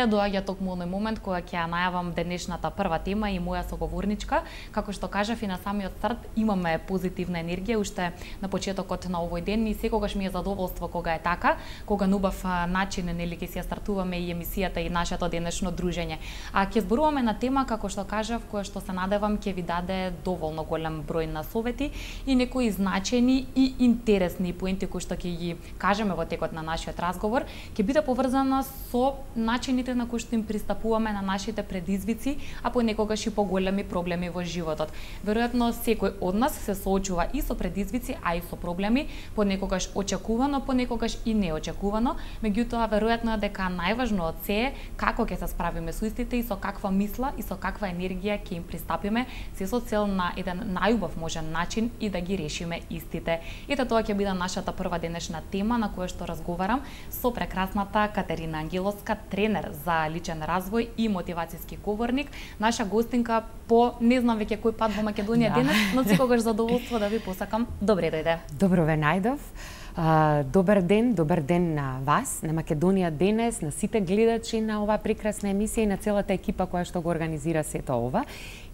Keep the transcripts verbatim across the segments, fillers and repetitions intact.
доаѓа токму оној момент кога ќе ја најавам денешната прва тема и моја соговорничка. Како што кажав и на самиот старт, имаме позитивна енергија уште на почетокот на овој ден и секогаш ми е задоволство кога е така, кога на убав начин нели ќе си ја стартуваме и емисијата и нашето денешно дружење. А ќе зборуваме на тема како што кажав, која што се надевам ќе ви даде доволно голем број на совети и некои значајни и интересни поенти кои што ќе ги кажеме во текот на нашиот разговор, ќе биде поврзана со начините на кои што им пристапуваме на нашите предизвици, а понекогаш и поголеми проблеми во животот. Веројатно секој од нас се соочува и со предизвици, а и со проблеми, понекогаш очекувано, понекогаш и неочекувано, меѓутоа веројатно е дека најважно од се е како ќе се справиме со истите и со каква мисла и со каква енергија ќе им пристапиме, се со цел на еден најубав можен начин и да ги решиме истите. Ето тоа ќе биде нашата прва денешна тема на која што разговарам со прекрасната Катерина Ангеловска, тренер за личен развој и мотивацијски говорник, наша гостинка по не знам веќе кој пат во Македонија да. денес, но секогаш задоволство да ви посакам. Добре дојде. Добро ве најдов. Uh, добар ден, добар ден на вас, на Македонија денес, на сите гледачи на оваа прекрасна емисија и на целата екипа која што го организира сето ова.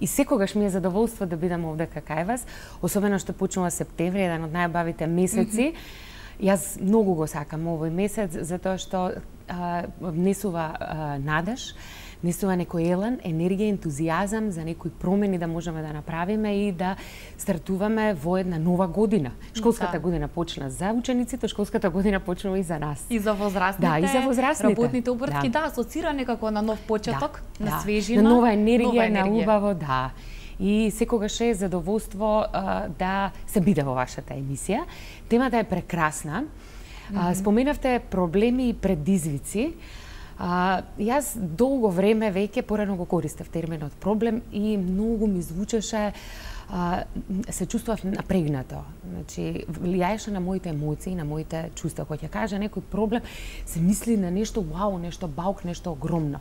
И секогаш ми е задоволство да бидам овде кај вас, особено што почнува септември, еден од најбавите месеци. Mm -hmm. Јас многу го сакам овој месец затоа што uh, внесува uh, надеж, внесува некој елан, енергија, ентузијазам за некои промени да можеме да направиме и да стартуваме во една нова година. Школската да. година почна за учениците, школската година почнува и за нас. И за возрастните. Да, и за возрастните. Работните обртки, да, да асоцира некако на нов почеток, да, на да. свежина, на нова енергија, нова енергија. на убаво, да. И секогаш е задоволство а, да се биде во вашата емисија. Темата е прекрасна. Mm -hmm. а, споменавте проблеми и предизвици. А, јас долго време веќе порано го користев терминот проблем и многу ми звучеше, а, се чувствував напрегнато. Значи, влијаеше на моите емоции, на моите чувства. Кога ќе каже некој проблем, се мисли на нешто вау, нешто баук, нешто огромно.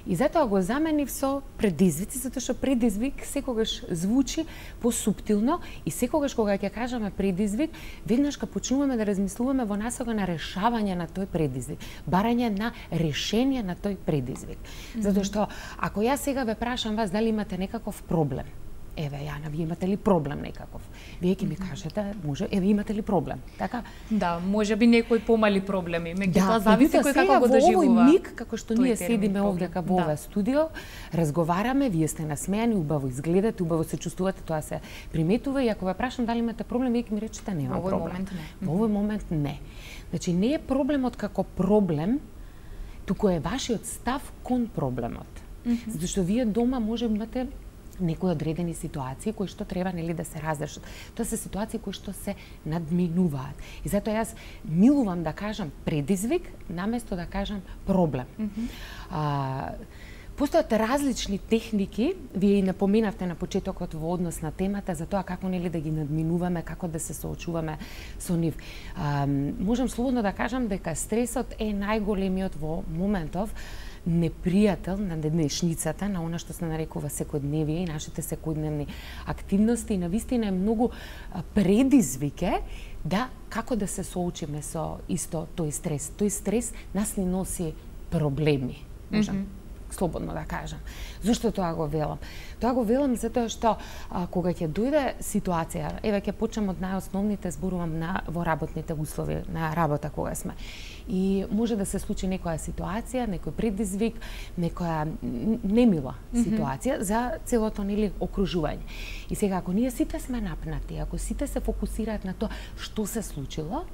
И затоа го заменив со предизвици, затоа што предизвик секогаш звучи посуптилно и секогаш кога ќе кажеме предизвик, веднаш кога почнуваме да размислуваме во насока на решавање на тој предизвик, барање на решение на тој предизвик. Mm -hmm. Затоа што ако јас сега ве прашам вас дали имате некаков проблем, еве Јана, вие имате ли проблем некаков? Вие ќе ми кажете, може, еве имате ли проблем? Така? Да, може би некои помали проблеми, меѓутоа да, зависи кој како го доживува. Во овој миг, како што ние седиме овде кај во да. ова студио, разговараме, вие сте насмејани, убаво изгледате, убаво се чувствувате, тоа се приметува и ако ве прашам дали имате проблем, вие ќе ми речете немам проблем. Во овој момент не. Во овој момент не. Значи не е проблемот како проблем, туку е вашиот став кон проблемот. Mm -hmm. Затоа што вие дома може имате некои одредени ситуации кои што треба нели да се разрешат. Тоа се ситуации кои што се надминуваат. И затоа јас милувам да кажам предизвик наместо да кажам проблем. Mm -hmm. а, Постојат различни техники, вие и напоменавте на почетокот во однос на темата за тоа како нели да ги надминуваме, како да се соочуваме со нив. А, можам слободно да кажам дека стресот е најголемиот во моментов непријател на денешницата, на она што се нарекува секојдневие и нашите секојдневни активности и навистина е многу предизвике да како да се соочиме со исто тој стрес. Тој стрес нас ни носи проблеми. Можам mm -hmm. слободно да кажам. Зошто тоа го велам? Тоа го велам затоа што а, кога ќе дојде ситуација, еве ќе почнем од најосновните, зборувам на во работните услови, на работа кога сме. И може да се случи некоја ситуација, некој предизвик, некоја немила ситуација mm -hmm. за целото нели окружување. И сега ако ние сите сме напнати, ако сите се фокусираат на тоа што се случило,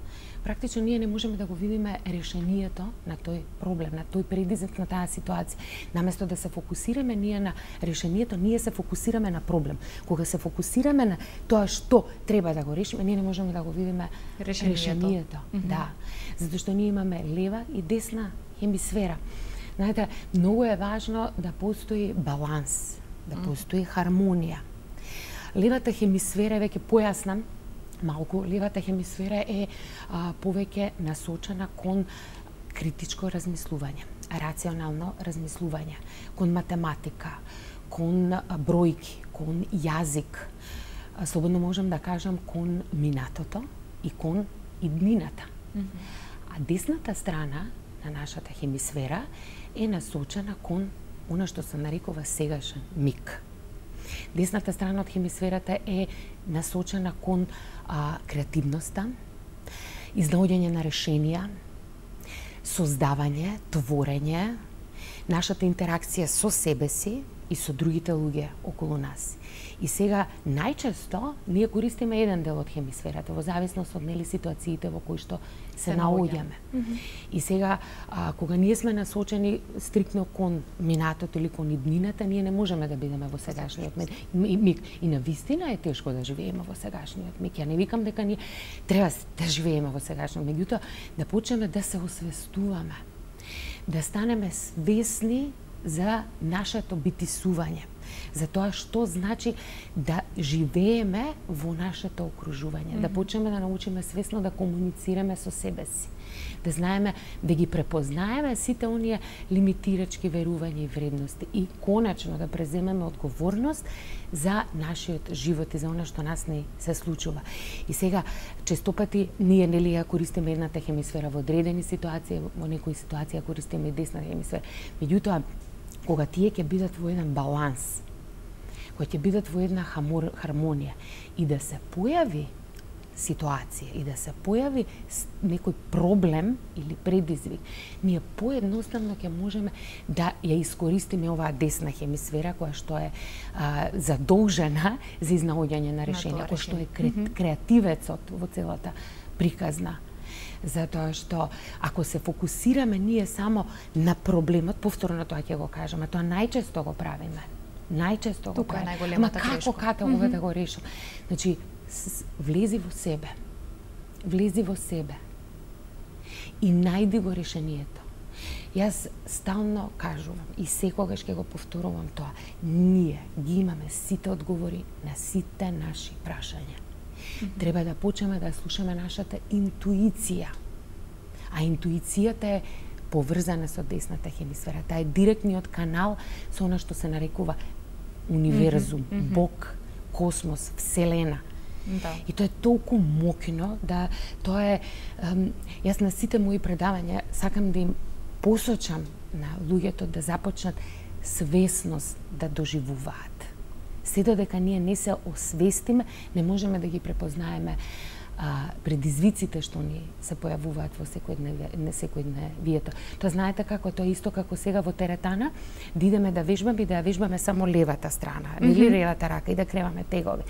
практично ние не можеме да го видиме решението на тој проблем, на тој предизвик, на таа ситуација. Наместо да се фокусираме ние на решението, ние се фокусираме на проблем. Кога се фокусираме на тоа што треба да го решиме, ние не можеме да го видиме решението. решението. Mm -hmm. Да. Затоа што ние имаме лева и десна хемисфера. Знаете, многу е важно да постои баланс, да постои хармонија. Левата хемисфера, веќе појаснам, малку, левата хемисфера е а, повеќе насочена кон критичко размислување, рационално размислување, кон математика, кон а, бројки, кон јазик. А, слободно можам да кажам кон минатото и кон иднината. Mm -hmm. А десната страна на нашата хемисфера е насочена кон она што се нарекува сегашен миг. Десната страна од хемисферата е насочена кон а, креативноста, изнаоѓање на решенија, создавање, творење, нашата интеракција со себе си и со другите луѓе околу нас. И сега најчесто ние користиме еден дел од хемисферата во зависност од нели ситуациите во кои што се, се наоѓаме. Mm -hmm. И сега а, кога ние сме насочени стриктно кон минатото или кон иднината, ние не можеме да бидеме во сегашниот миг. И на вистина е тешко да живееме во сегашниот миг. Ја не викам дека ние треба да живееме во сегашниот миг, меѓутоа да почнеме да се освестуваме, да станеме свесни за нашето битисување, за тоа што значи да живееме во нашето окружување, mm -hmm. да почнеме да научиме свесно да комуницираме со себе си, да знаеме да ги препознаеме сите оние лимитирачки верувања и вредности и конечно да преземеме одговорност за нашиот живот и за она што нас не се случува. И сега честопати ние нели ја користиме едната хемисфера во одредени ситуации, во некои ситуации ја користиме и десната хемисфера. Меѓутоа кога тие ќе бидат во еден баланс, кога ќе бидат во една хармонија и да се појави ситуација и да се појави некој проблем или предизвик, ние поедноставно ќе можеме да ја искористиме оваа десна хемисфера која што е а, задолжена за изнаоѓање на решенија, која што е кре, креативецот во целата приказна. Затоа што ако се фокусираме ние само на проблемот, повторно тоа ќе го кажеме, тоа најчесто го правиме. Најчесто го правиме. Тука е најголемата грешка. Како ката mm -hmm. да го решам? Значи, влези во себе. Влези во себе. И најди го решението. Јас стално кажувам и секогаш ќе го повторувам тоа. Ние ги имаме сите одговори на сите наши прашања. Треба да почнеме да слушаме нашата интуиција. А интуицијата е поврзана со десната хемисфера. Таа е директниот канал со она што се нарекува универзум, mm -hmm. Бог, космос, Вселена. Да. И тоа е толку моќно да тоа е ем, јас на сите мои предавања сакам да им посочам на луѓето да започнат свесност да доживуваат. Се додека ние не се освестиме, не можеме да ги препознаеме а, предизвиците што ни се појавуваат во секојдневието. Тоа знаете како, тоа исто како сега во теретана, да идеме да вежбаме и да ја вежбаме само левата страна, mm -hmm. или левата рака и да креваме тегови.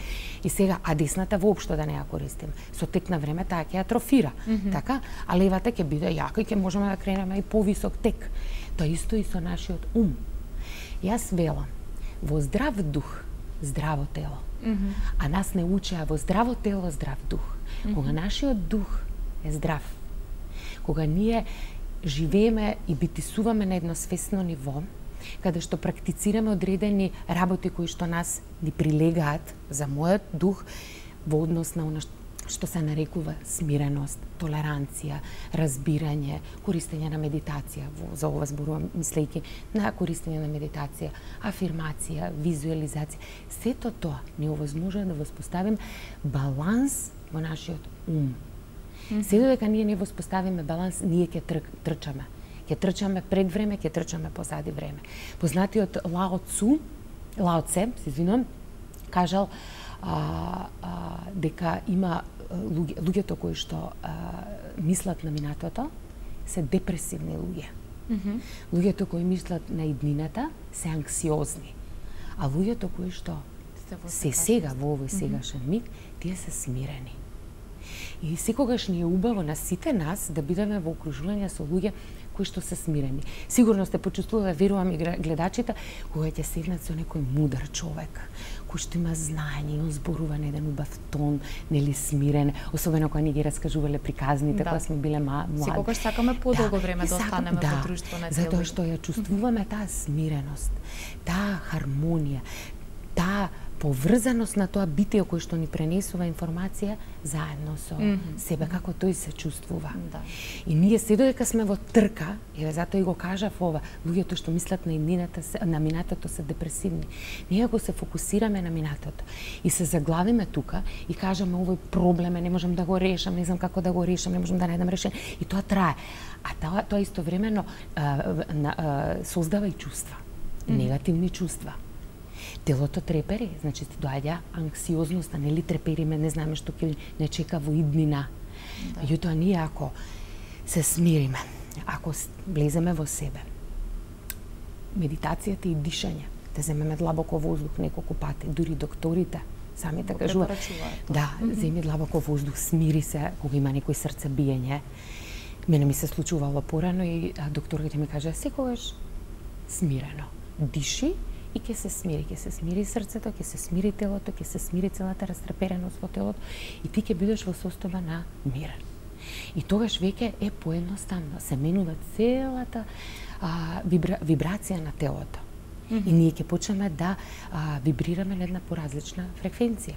И сега, а десната воопшто да не ја користиме. Со тек на време таа ќе атрофира, mm -hmm. така? А левата ќе биде јака и ќе можеме да кренеме и повисок тек. Тоа исто и со нашиот ум. Јас велам, во здрав дух, здраво тело. Mm -hmm. А нас не учеа во здраво тело, здрав дух. Mm -hmm. Кога нашиот дух е здрав, кога ние живееме и битисуваме на едно свесно ниво, каде што практицираме одредени работи кои што нас ни прилегаат за мојот дух во однос на она што се нарекува смиреност, толеранција, разбирање, користење на медитација, за ова зборувам мислејќи на користење на медитација, афирмација, визуализација. Сето тоа ни овозможува да воспоставим баланс во нашиот ум. Mm -hmm. Се додека ние не воспоставиме баланс, ние ќе тр трчаме. Ќе трчаме пред време, ќе трчаме позади време. Познатиот Лао Цу, Лао Це, се извинувам, кажал а, а, дека има луѓе, луѓето кои што а, мислат на минатото се депресивни луѓе. Mm -hmm. Луѓето кои мислат на иднината се анксиозни. А луѓето кои што се сега во овој сегашен миг, тие се смирени. И секогаш ни е убаво на сите нас да бидеме во окружување со луѓе кои што се смирени. Сигурно сте почувствувале, верувам и гледачите, кога ќе седнат со некој мудар човек, кој што има знаење, он зборува на еден убав тон, нели смирен, особено кога ни ги раскажувале приказните, да. Кога сме биле млади. Секогаш сакаме подолго да, време да останеме да, во друштво на затоа што ја чувствуваме таа смиреност, таа хармонија, таа поврзаност на тоа битие кој што ни пренесува информација заедно со mm -hmm. себе, како тој се чувствува. Да. И ние се додека сме во трка, еве затоа и го кажав ова, луѓето што мислат на иднината, на минатото се депресивни. Ние ако се фокусираме на минатото и се заглавиме тука и кажеме овој проблем е, не можам да го решам, не знам како да го решам, не можам да најдам решение, и тоа трае. А тоа, тоа истовремено а, а, а, создава и чувства, mm -hmm. негативни чувства. Телото трепери, значи ти доаѓа анксиозноста, нели трепериме, не знаеме што ќе не чека во иднина. Да. Меѓутоа ние ако се смириме, ако влеземе во себе, медитацијата и дишање, да земеме длабоко воздух неколку пати, дури докторите самите кажуваат. Да, mm -hmm. земи длабоко воздух, смири се кога има некој срцебиење. Мене ми се случувало порано и докторите ми кажа секогаш смирено, диши и ќе се смири, ќе се смири срцето, ќе се смири телото, ќе се смири целата растрепереност во телото и ти ќе бидеш во состојба на мир. И тогаш веќе е поедноставно, се менува целата а, вибра, вибрација на телото. Mm -hmm. И ние ќе почнеме да а, вибрираме на една поразлична фреквенција.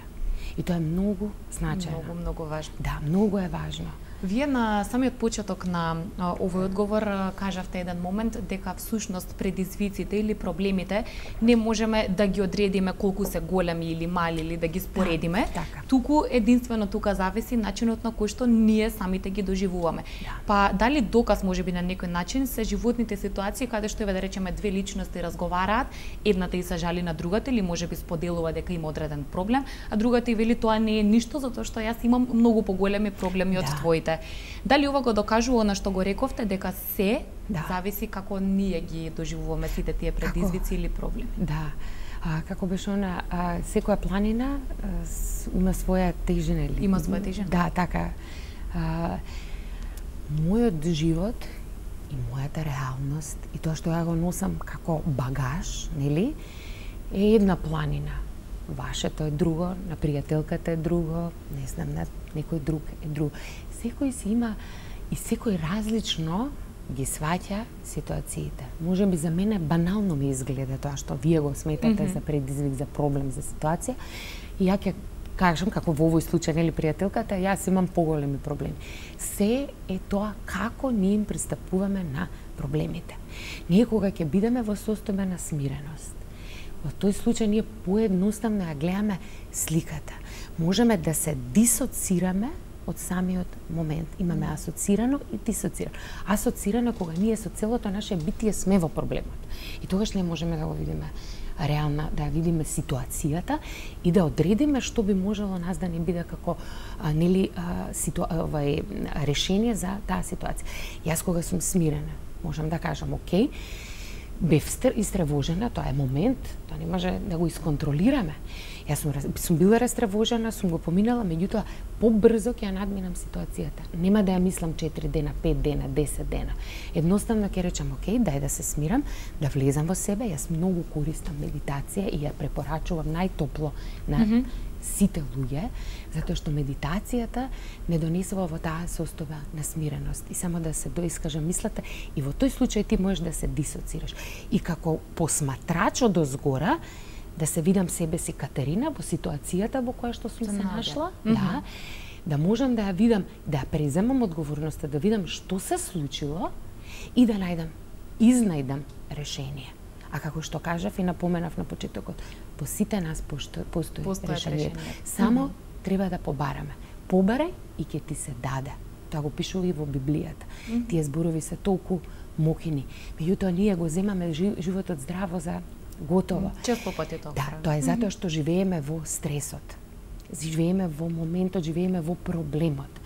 И тоа е многу значајно. Многу, многу важно. Да, многу е важно. Вие на самиот почеток на а, овој одговор а, кажавте еден момент дека всушност предизвиците или проблемите не можеме да ги одредиме колку се големи или мали или да ги споредиме. Да, така. Туку единствено тука зависи начинот на кој што ние самите ги доживуваме. Да. Па дали доказ можеби на некој начин се животните ситуации каде што еве да речеме две личности разговараат, едната и се жали на другата или можеби споделува дека има одреден проблем, а другата и вели тоа не е ништо затоа што јас имам многу поголеми проблеми од да. твоите. Дали ова го докажува она што го рековте, дека се да. зависи како ние ги доживуваме сите тие предизвици како? Или проблеми? Да. А, како беше она, а, секоја планина а, с, има своја тежина. Има своја тежина? Да, така. А, мојот живот и мојата реалност и тоа што ја го носам како багаж, нели, е една планина. Вашето е друго, на пријателката е друго, не знам, на некој друг е друго. Секој си има и секој различно ги сваќа ситуациите. Може би за мене банално ми изгледа тоа што вие го сметате mm -hmm. за предизвик, за проблем, за ситуација. И ја ќе кажам, како во овој случај, нели пријателката, јас имам поголеми проблеми. Се е тоа како ние им пристапуваме на проблемите. Ние кога ќе бидеме во состојба на смиреност, во тој случај ние поедноставно ја гледаме сликата. Можеме да се дисоцираме од самиот момент. Имаме асоцирано и дисоцирано. Асоцирано кога ние со целото наше битие сме во проблемот. И тогаш не можеме да го видиме реална, да ја видиме ситуацијата и да одредиме што би можело нас да не биде како а, нели а, ситу... овај решение за таа ситуација. Јас кога сум смирена, можам да кажам, окей, бев истревожена, тоа е момент, тоа не може да го исконтролираме. Јас сум, сум била растревожена, сум го поминала, меѓутоа побрзо ќе ја надминам ситуацијата. Нема да ја мислам четири дена, пет дена, десет дена. Едноставно ќе речам, окей, дај да се смирам, да влезам во себе. Јас многу користам медитација и ја препорачувам најтопло на mm -hmm. сите луѓе, затоа што медитацијата не донесува во таа состојба на смиреност и само да се доискаже мислата и во тој случај ти можеш да се дисоцираш. И како посматрач од озгора да се видам себе си Катерина во ситуацијата во која што сум се нашла, mm -hmm. да, да можам да ја видам, да ја преземам одговорноста, да видам што се случило и да најдам, изнајдам решение. А како што кажав и напоменав на почетокот, по сите нас постои, постои решение. Само mm -hmm. треба да побараме. Побарај и ќе ти се даде. Тоа го пишува и во Библијата. Mm -hmm. Тие зборови се толку мокини. Меѓутоа ние го земаме животот здраво за готово. Често пати тоа. Да, тоа е затоа што живееме во стресот. Живееме во моментот, живееме во проблемот.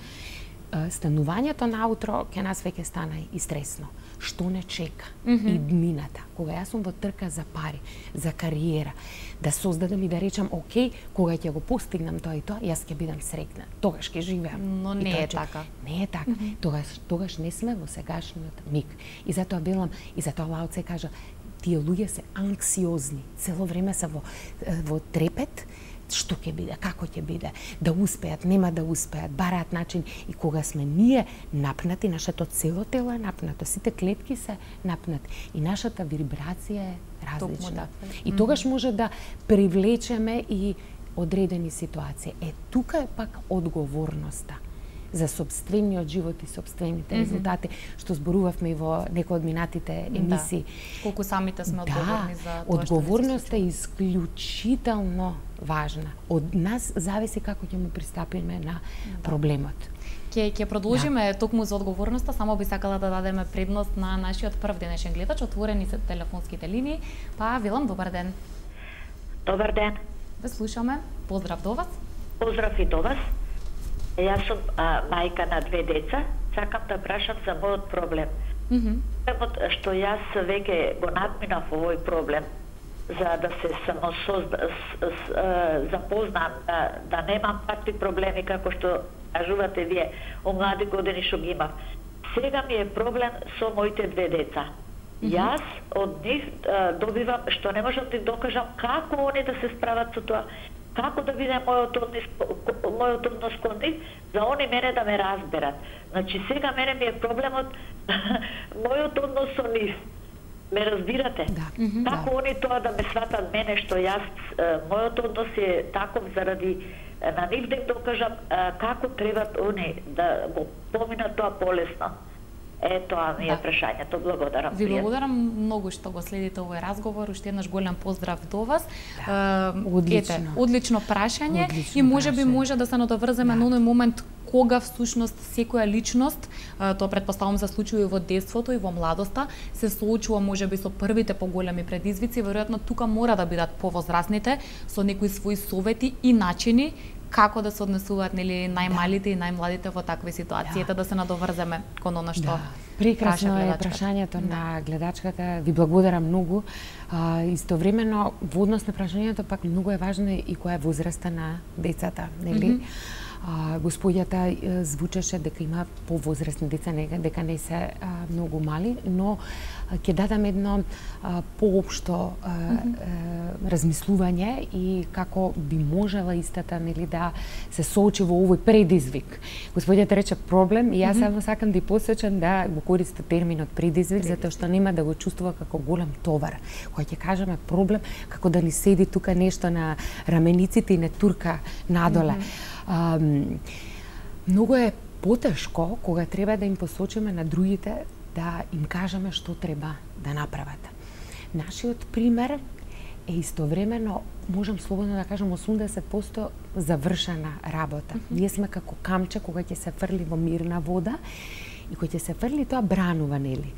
Станувањето наутро ќе нас веќе стана и стресно. Што не чека? Mm -hmm. И дмината. Кога јас сум во трка за пари, за кариера, да создадам и да речам, окей, кога ќе го постигнам тоа и тоа, јас ќе бидам среќна. Тогаш ќе живеам. Но не е така. Не е така. Mm -hmm. Тогаш, тогаш не сме во сегашниот миг. И затоа велам, и затоа Лао Це кажа, тие луѓе се анксиозни, цело време се во, во трепет, што ќе биде, како ќе биде, да успеат, нема да успеат, бараат начин. И кога сме ние напнати, нашето цело тело е напнато, сите клетки се напнати и нашата вибрација е различна. И тогаш може да привлечеме и одредени ситуации. Е, тука е пак одговорноста за собствениот живот и собствените резултати, што зборувавме и во некои од минатите емисии. Да. Колку самите сме одговорни да, за тоа што одговорноста е исклучително важна. Од нас зависи како ќе му пристапиме на да. проблемот. Ќе ќе продолжиме да. токму за одговорноста, само би сакала да дадеме предност на нашиот прв денешен гледач, отворени се телефонските линии. Па Вилам, добар ден. Добар ден. Ве слушаме. Поздрав до вас. Поздрав и до вас. Јас сум а, мајка на две деца. Сакам да прашам за мојот проблем. Mm-hmm. Што јас веќе го надминав овој проблем, за да се самосозда, с, с, запознам, да, да немам такви проблеми како што кажувате вие, о млади години што ги имав. Сега ми е проблем со моите две деца. Mm-hmm. Јас од нив а, добивам, што не можам да им докажам како они да се справат со тоа, како да биде мојот однос, мојот однос кон нив, за они мене да ме разберат. Значи сега мене ми е проблемот мојот однос со нив. Ме разбирате? Да. Како да. они тоа да ме сватат мене, што јас, мојот однос е таков заради на нив да им докажам како требат они да го поминат тоа полесно. Е, тоа ми е да. прашањето. Благодарам. Ви благодарам многу што го следите овој разговор. Уште еднаш голем поздрав до вас. Да. Uh, одлично. Ете, одлично прашање. Одлично и може прашање. би може да се надоврземе да. на оној момент кога всушност секоја личност, тоа претпоставувам се случува и во детството и во младоста, се соочува можеби со првите поголеми предизвици, веројатно тука мора да бидат повозрасните со некои своји совети и начини како да се однесуваат нели најмалите и најмладите во такви ситуации, да, да се надоврземе кон она што да. Прекрасно е прашањето да. на гледачката. Ви благодарам многу. А, истовремено во однос на прашањето пак многу е важно и која е возраста на децата, нели? Mm -hmm. А, господјата звучеше дека има повозрастни деца, дека не се а, многу мали, но ќе дадам едно а, поопшто а, mm -hmm. а, размислување и како би можела истата нели да се соочи во овој предизвик. Господјата рече проблем и јас mm -hmm. само сакам да ја посочам да го користи терминот предизвик, предизвик, затоа што нема да го чувствува како голем товар. Кога ќе кажеме проблем, како да ни седи тука нешто на рамениците и не турка надоле. Mm -hmm. А, многу е потешко кога треба да им посочиме на другите да им кажеме што треба да направат. Нашиот пример е истовремено, можам слободно да кажам, осумдесет проценти завршена работа. Mm -hmm. Ние сме како камче кога ќе се фрли во мирна вода и кога ќе се фрли тоа бранува, нели?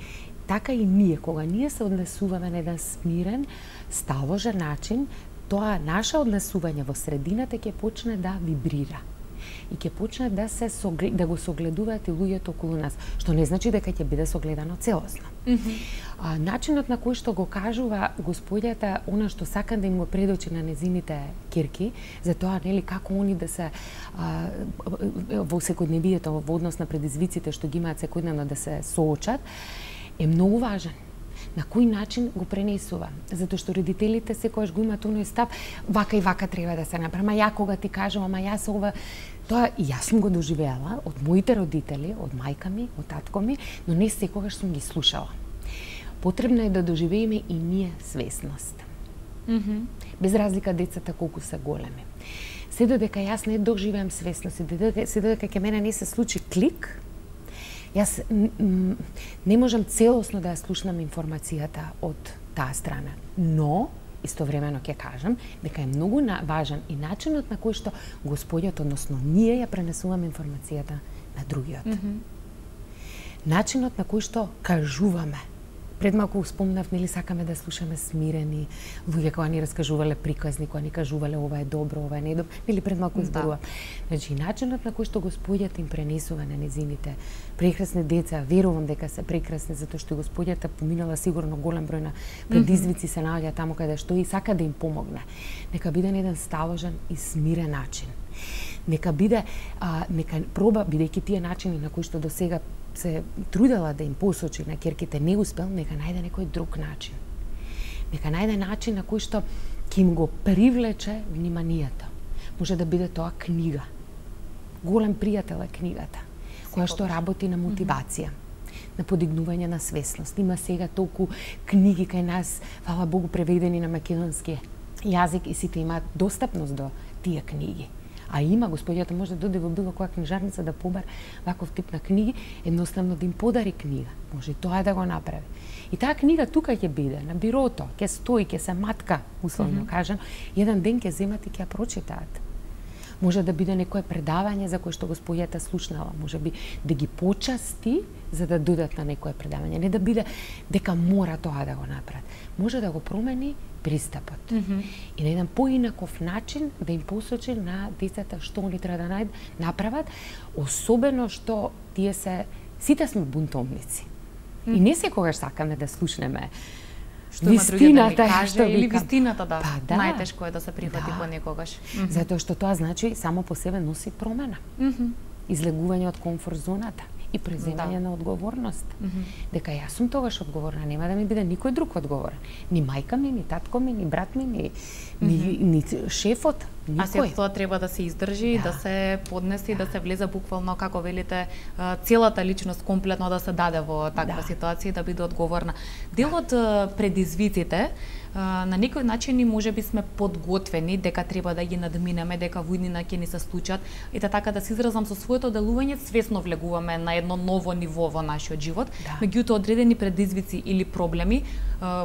Така и ние, кога ние се однесуваме на еден смирен, сталожен начин, тоа наше однесување во средината ќе почне да вибрира и ќе почне да се соглед, да го согледуваат и луѓето околу нас, што не значи дека ќе биде согледано целосно. Mm -hmm. а, начинот на кој што го кажува господјата, она што сакам да им го предочи на незините ќерки, за тоа нели како они да се а, во секојдневието, во однос на предизвиците што ги имаат секојдневно да се соочат, е многу важен. На кој начин го пренесува? Затоа што родителите секогаш го имаат оној став, вака и вака треба да се направи. Ама ја кога ти кажам, ама јас ова, тоа и јас сум го доживеала од моите родители, од мајка ми, од татко ми, но не секогаш сум ги слушала. Потребно е да доживееме и ние свесност. Mm -hmm. Без разлика децата колку се големи. Се додека јас не доживеам свесност, се додека ќе мене не се случи клик, јас не можам целосно да ја слушнам информацијата од таа страна, но истовремено ќе кажам дека е многу важен и начинот на кој што господјот, односно ние ја пренесуваме информацијата на другиот. Mm -hmm. Начинот на кој што кажуваме. Пред малку спомнав, нели сакаме да слушаме смирени луѓе кога ни раскажувале приказни, кога ни кажувале ова е добро, ова е не добро, нели пред малку зборувам. Да. Значи начинот на кој што господјата им пренесува на незините прекрасни деца, верувам дека се прекрасни затоа што господјата поминала сигурно голем број на предизвици, mm -hmm. се наоѓа таму каде што и сака да им помогне. Нека биде на еден сталожен и смирен начин. Нека биде, а, нека проба, бидејќи тие начини на кои што до сега се трудела да им посочи на ќерките не успел, нека најде некој друг начин. Нека најде начин на кој што ќе им го привлече вниманието. Може да биде тоа книга. Голем пријател е книгата, која што работи на мотивација, на подигнување на свесност. Има сега толку книги кај нас, фала Богу, преведени на македонски јазик и сите имаат достапност до тие книги. А има, господјата може да дојде во било која книжарница да побар ваков тип на книги, едноставно да им подари книга. Може и тоа да го направи. И таа книга тука ќе биде, на бирото, ќе стои, ќе се матка, условно mm -hmm. кажам, еден ден ќе земат и ќе ја прочитаат. Може да биде некое предавање за кое што господјата слушнала, може би да ги почасти за да додат на некое предавање, не да биде дека мора тоа да го направат. Може да го промени пристапот. Mm -hmm. И на еден поинаков начин да им посочи на децата што они треба да најд, направат, особено што тие се, сите сме бунтовници. Mm -hmm. И не секогаш сакаме да слушнеме што има други да ни каже, што или вика, вистината, да. Па, да. Најтешко е да се прифати да. понекогаш. Mm -hmm. Затоа што тоа значи само по себе носи промена. Mm -hmm. Излегување од комфорт зоната и преземање да. на одговорност. Mm -hmm. Дека јас сум тогаш одговорна, нема да ми биде никој друг одговорен. Ни мајка ми, ни татко ми, ни брат ми, ни, mm -hmm. ни, ни шефот, никој. А се тоа треба да се издржи, да, да се поднеси, да. да се влезе буквално, како велите, целата личност комплетно да се даде во таква да. ситуација да биде одговорна. Дел од да. предизвиците, на некој начин и можеби сме подготвени дека треба да ги надминеме, дека во иднина ќе ни се случат, и да така да се изразам со своето делување, свесно влегуваме на едно ново ниво во нашиот живот. Да. Меѓутоа одредени предизвици или проблеми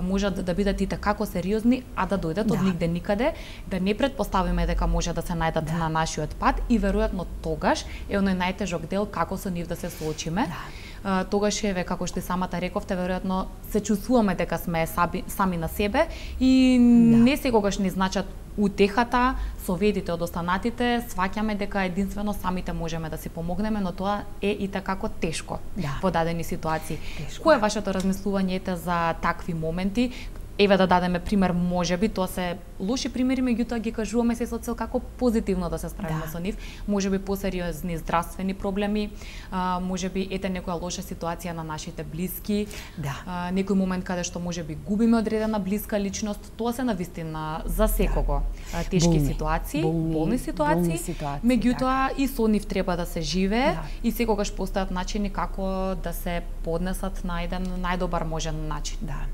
можат да бидат и како сериозни, а да дојдат да. од нигде никаде, да не предпоставиме дека може да се најдат да. на нашиот пат и веројатно тогаш е оној најтежок дел како со нив да се соочиме. Да. Uh, тогаш еве, како што и самата рековте, веројатно се чувствуваме дека сме саби, сами на себе и да. не секогаш ни значат утехата, советите од останатите, сваќаме дека единствено самите можеме да си помогнеме, но тоа е и такако тешко да. во дадени ситуации. Тешко. Кој е вашето размислување за такви моменти? Еве да дадеме пример, можеби тоа се лоши примери, меѓутоа ги кажуваме се со цел како позитивно да се справиме да. со нив. Можеби посериозни здравствени проблеми, а, можеби ете некоја лоша ситуација на нашите блиски, да. а, некој момент каде што можеби губиме одредена блиска личност, тоа се навистина за секого да. тешки болни, ситуации, болни, болни ситуации, болни ситуации меѓутоа така. и со нив треба да се живее да. и секогаш постојат начини како да се поднесат на еден најдобар можен начин. Да.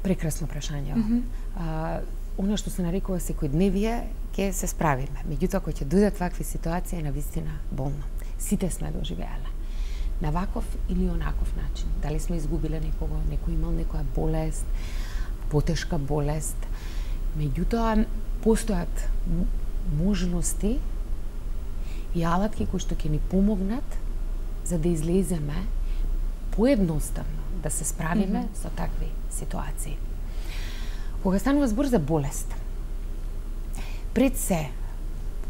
Прекрасно прашање. Mm -hmm. а, Оно што се нарекува секојдневие, ќе се справиме. Меѓутоа, кога ќе дојдат вакви ситуации, е навистина болно. Сите сме доживеале. На ваков или онаков начин. Дали сме изгубиле некого, некој имал некоја болест, потешка болест. Меѓутоа, постојат можности и алатки кои што ќе ни помогнат за да излеземе поедноставно, да се справиме mm -hmm. со такви ситуации. Кога станува збор за болест, пред се,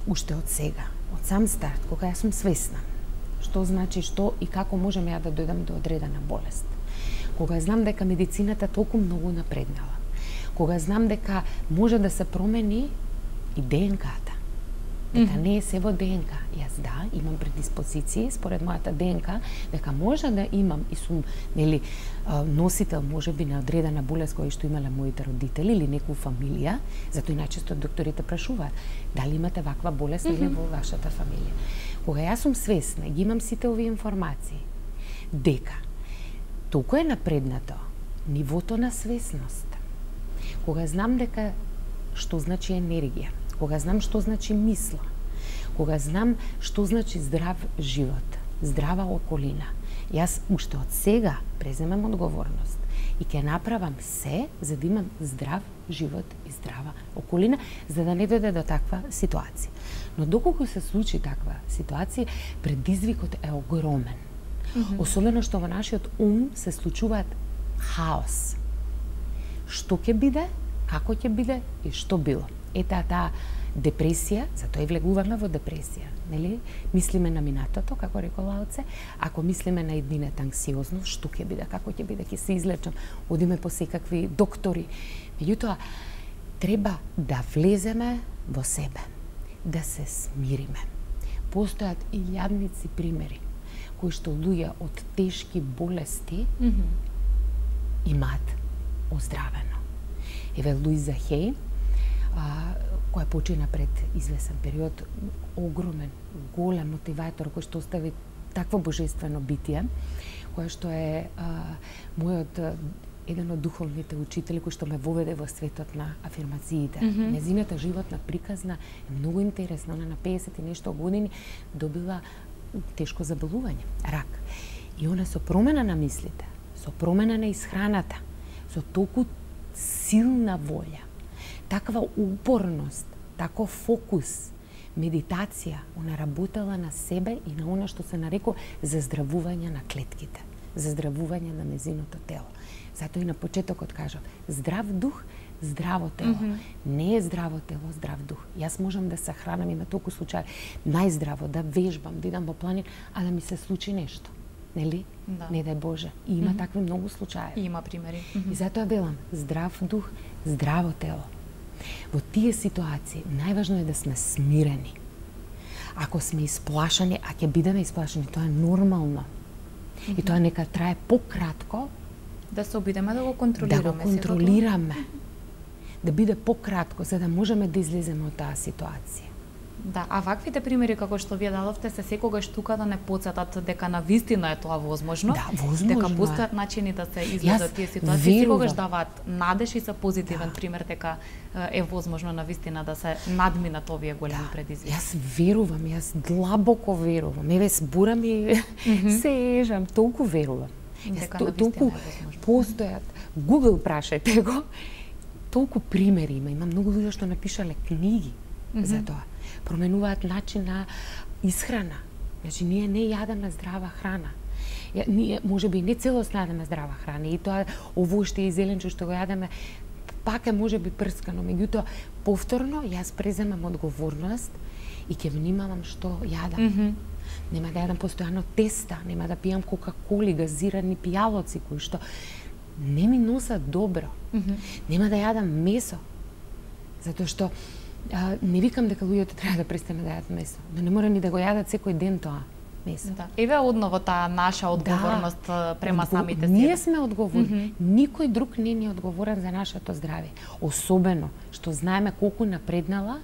уште од сега, од сам старт, кога јас сум свесна, што значи што и како можеме ја да дојдам до одредена болест, кога знам дека медицината толку многу напреднала, кога знам дека може да се промени и ДНК-та, дека mm -hmm. не е се во ДНК. Јас да, имам предиспозиции според мојата ДНК, дека може да имам и сум, нели, носител можеби на одредена болест која што имале моите родители или некоја фамилија, затоа и најчесто докторите прашуваат дали имате ваква болест или mm -hmm. во вашата фамилија. Кога јас сум свесна и ги имам сите овие информации, дека толку е напреднато нивото на свесност, кога знам дека што значи енергија, кога знам што значи мисла, кога знам што значи здрав живот, здрава околина, јас уште од сега преземам одговорност и ќе направам се за да имам здрав живот и здрава околина, за да не дојде до таква ситуација. Но доколку се случи таква ситуација, предизвикот е огромен. Mm -hmm. Особено што во нашиот ум се случуваат хаос. Што ќе биде, како ќе биде и што било. Ета таа депресија, затоа и влегуваме во депресија, нели? Мислиме на минатото, како рекол Лаоце, ако мислиме на еднината анксиозност, што ќе биде, како ќе биде, ќе се излечам, одиме по секакви доктори. Меѓутоа, треба да влеземе во себе, да се смириме. Постојат илјадници примери кои што луѓе од тешки болести mm -hmm. имаат оздравено. Еве Луиза Хей, а, која почина пред извесен период, огромен, голем мотиватор кој што остави такво божествено битие, која што е а, мојот еден од духовните учители кој што ме воведе во светот на афирмациите. Mm -hmm. Незината животна приказна е многу интересна. Она на педесет и нешто години добила тешко заболување, рак. И она со промена на мислите, со промена на исхраната, со толку силна волја, таква упорност, таков фокус, медитација, она работела на себе и на она што се нарекува заздравување на клетките, заздравување на незиното тело. Затоа и на почетокот кажав, здрав дух, здраво тело. Mm -hmm. Не е здраво тело, здрав дух. Јас можам да се хранам, има толку случаи, најздраво, да вежбам, да идам во планин, а да ми се случи нешто. Нели? Да. Не дај Боже. И има mm -hmm. такви многу случаи. И има примери. Mm -hmm. И затоа велам, здрав дух, здраво тело. Во тие ситуации најважно е да сме смирени. Ако сме исплашани, а ќе бидеме исплашани, тоа е нормално. Mm -hmm. И тоа нека трае пократко. Да се обидеме да го контролираме. Да го контролираме. Да биде пократко, за да можеме да излеземе од таа ситуација. Да, а ваквите примери како што вие дадовте се секогаш тука да не потсетат дека на вистина е тоа возможно. Да, возможно. Дека постојат начини да се излезат тие ситуации, секогаш даваат надеж и се позитивен да. пример дека е возможно на вистина да се надминат овие големи да. предизвици. Јас верувам, јас длабоко верувам. Еве збурам и mm -hmm. се ежам, толку верувам. Дека на вистина е возможно. Постојат, Google прашајте го, толку примери има, има многу луѓе што напишале книги mm -hmm. за тоа. Променуваат начин на исхрана. Значи, ние не јадеме здрава храна. Ја, ние, може би, не целосно јадеме здрава храна. И тоа, овоште и зеленче што го јадеме, пак е може би прскано. Меѓутоа, повторно, јас преземам одговорност и ќе внимавам што јадам. Mm -hmm. Нема да јадам постојано теста, нема да пијам кока-коли, газирани пијалоци, кои што не ми носат добро. Mm -hmm. Нема да јадам месо, затоа што а, не викам дека луѓето треба да престане да јадат месо, но не мора ни да го јадат секој ден тоа месо. Да. Еве одново таа наша одговорност да, према одго... самите себе. Ние сме одговорни. Mm -hmm. Никој друг не ни е одговорен за нашето здравје. Особено што знаеме колку напреднала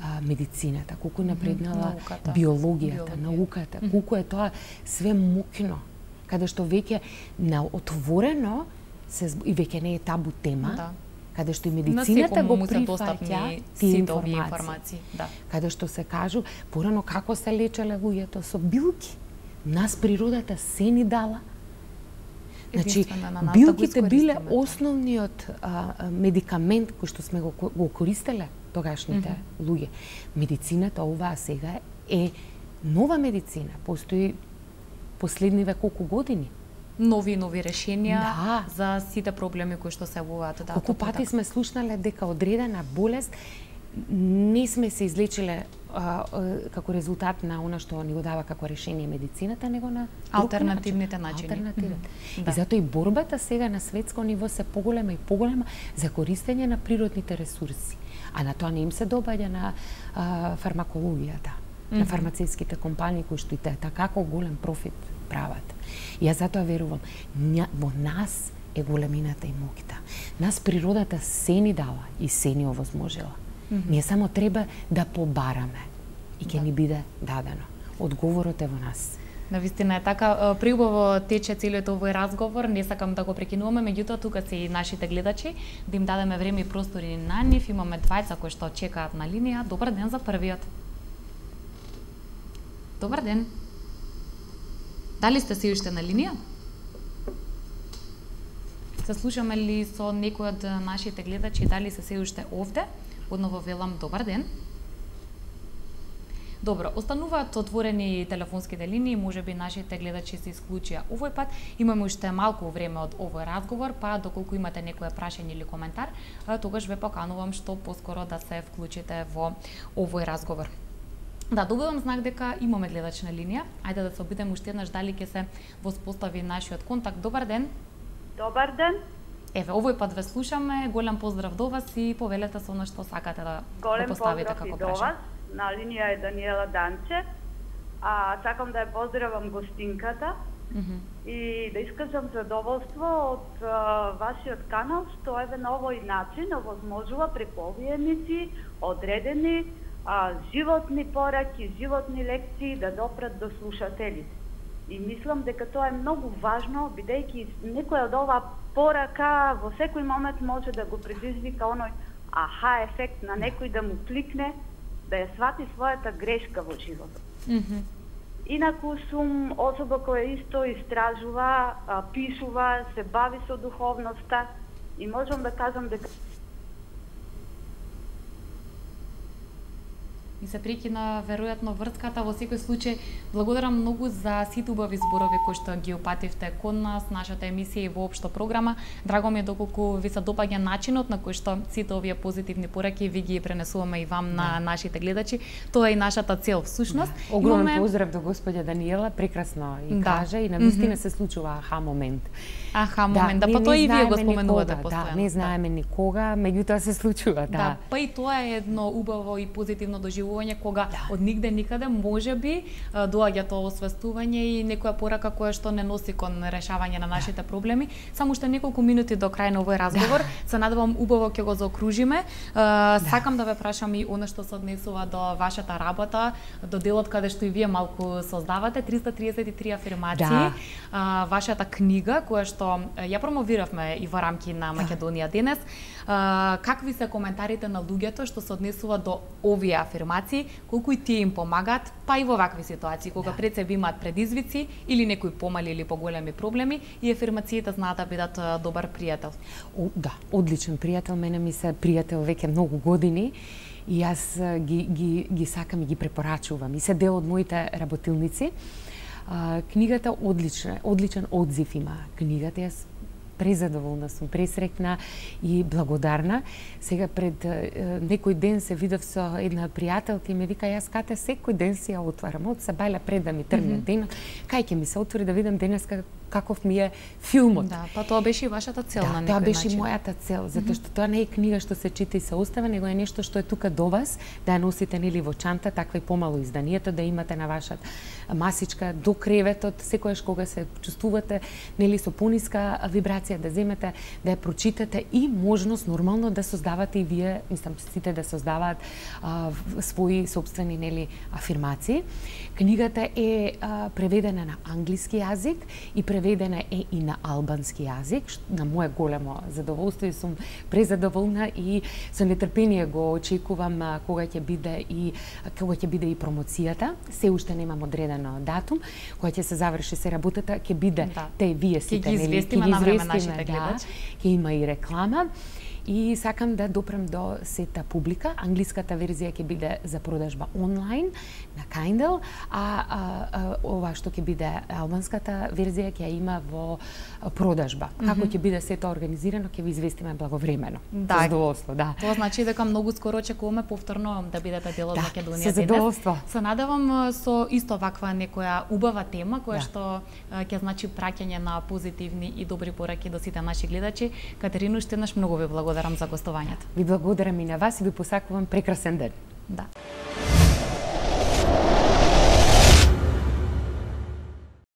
а, медицината, колку напреднала науката, биологијата, Биологија. науката, mm -hmm. колку е тоа све мокно, каде што веќе на отворено се и веќе не е табу тема. Да. Каде што и медицината го прифаќа тие информации. информации. Да. Каде што се кажу, порано како се лечеле луѓето со билки. Нас природата се ни дала. Значи, на билките да биле основниот а, медикамент кој што сме го, го користеле тогашните mm -hmm. луѓе. Медицината оваа сега е нова медицина. Постои последниве колку години. Нови нови решенија да. за сите проблеми кои што се јавуваат. Да, колку пати така. Сме слушнале дека одредена болест не сме се излечиле а, а, како резултат на она што ни го дава како решение медицината, него на алтернативните начини. Алтернативите. Mm -hmm. Да. И затоа и борбата сега на светско ниво се поголема и поголема за користење на природните ресурси. А на тоа не им се добаѓа на а, фармакологијата, mm -hmm. на фармацевските компании кои што и така голем профит прават. И јас затоа верувам, во нас е големината и моќта. Нас природата се ни дала и се ни овозможила. Mm -hmm. Ние само треба да побараме и ќе да. ни биде дадено. Одговорот е во нас. Навистина е така, приубаво тече целиот овој разговор, не сакам да го прекинуваме, меѓутоа тука се и нашите гледачи, да им дадеме време и простори на нив. Имаме двајца кои што чекаат на линија. Добар ден за првиот. Добар ден. Дали сте се уште на линија? Се слушаме ли со некој од нашите гледачи, дали се се уште овде? Одново велам добар ден. Добро, остануваат отворени телефонските линии, можеби нашите гледачи се исклучија овој пат. Имаме уште малку време од овој разговор, па доколку имате некое прашање или коментар, тогаш ве поканувам што поскоро да се вклучите во овој разговор. Да, добивам знак дека имаме гледач на линија. Ајде да се обидеме уште еднаш дали ќе се воспостави нашиот контакт. Добар ден. Добар ден. Еве, овој пат ве слушаме. Голем поздрав до вас и повелете со она што сакате да, да поставите како прашање. Голем поздрав и до вас. На линија е Даниела Данче. А сакам да ја поздравам гостинката. Mm -hmm. и да искажам задоволство од а, вашиот канал, што еве на овој начин овозможува преку овие емисии одредени а, животни пораки, животни лекции да допрат до слушателите. И мислам дека тоа е многу важно, бидејќи некоја од оваа порака во секој момент може да го предизвика оној аха ефект на некој да му кликне, да ја свати својата грешка во животот. Mm -hmm. Инаку сум особа која исто истражува, а, пишува, се бави со духовноста и можам да кажам дека И се прекина веројатно врската. Во секој случај, благодарам многу за сите убави зборови кои што ги упативте кон нас, нашата емисија и воопшто програма. Драго ми е доколку ви се допаѓа начинот на кој што сите овие позитивни пораки ви ги пренесуваме и вам на да. нашите гледачи. Тоа е и нашата цел всушност. Да. Огромен имаме... поздрав до господја Даниела, прекрасно и да. кажа и навистина mm -hmm. се случува аха момент. Аха момент, да, да па тоа и вие го споменувате постојано. Да, не знаеме никога, меѓутоа се случува, да. Да, па и тоа е едно убаво и позитивно доживување кога да. од нигде никаде можеби доаѓа тоа освестување и некоја порака која што не носи кон решавање на нашите да. проблеми. Само уште неколку минути до крај на овој разговор, да. се надевам убаво ќе го заокружиме. Да. Сакам да ве прашам и она што се однесува до вашата работа, до делот каде што и вие малку создавате, триста триесет и три афирмации, да. вашата книга која што ја промовиравме и во рамки на Македонија денес. Какви се коментарите на луѓето што се однесува до овие афирмации, колку и тие им помагаат, па и во вакви ситуации, кога да. пред себе имаат предизвици или некои помали или поголеми проблеми и афирмациите знаат да бидат добар пријател? О, да, одличен пријател, мене ми се пријател веќе многу години и јас ги, ги, ги сакам и ги препорачувам и се дел од моите работилници. Uh, книгата одлична, одличен одзив има. Книгата јас презадоволна сум, пресрекна и благодарна. Сега пред uh, некој ден се видов со една пријателка и ме вика јас кате секој ден си ја отварам. Од сабајла пред да ми тргне mm -hmm. ден, кај ќе ми се отвори да видам денеска каков ми е филмот. Да, па тоа беше и вашата цел да, на некој тоа беше начин. мојата цел, затоа што тоа не е книга што се чита и се остава, него е нешто што е тука до вас, да ја носите нели во чанта, таква и помало изданието, да имате на вашата масичка до креветот, секојаш кога се чувствувате нели со пониска вибрација да земете, да ја прочитате и можност нормално да создавате и вие, мислам сите да создаваат а, своји собствени нели афирмации. Книгата е а, преведена на англиски јазик и преведена е и на албански јазик, на моје големо задоволство и сум презадоволна и со нетрпение го очекувам а, кога ќе биде и кога ќе биде и промоцијата. Се уште немам одредено датум, кога ќе се заврши се работата, ќе биде да. те вие сите нели, ќе ги известиме на време нашите гледачи. Ќе има и реклама. И сакам да допрем до сета публика. Англиската верзија ќе биде за продажба онлайн на Kindle, а, а, а ова што ќе биде албанската верзија ќе има во продажба. Mm -hmm. Како ќе биде сето организирано, ќе ви известиме благовремено. Да. Со задоволство, да. Тоа значи дека многу скоро очекуваме повторно да бидете дел од да, Македонија со задоволство. денес. Се надевам со исто ваква некоја убава тема која да. што ќе значи праќање на позитивни и добри пораки до сите наши гледачи. Катерина, уште еднаш многу ви благодарам за гостувањето. Ви благодарам и на вас и ви посакувам прекрасен ден. Да.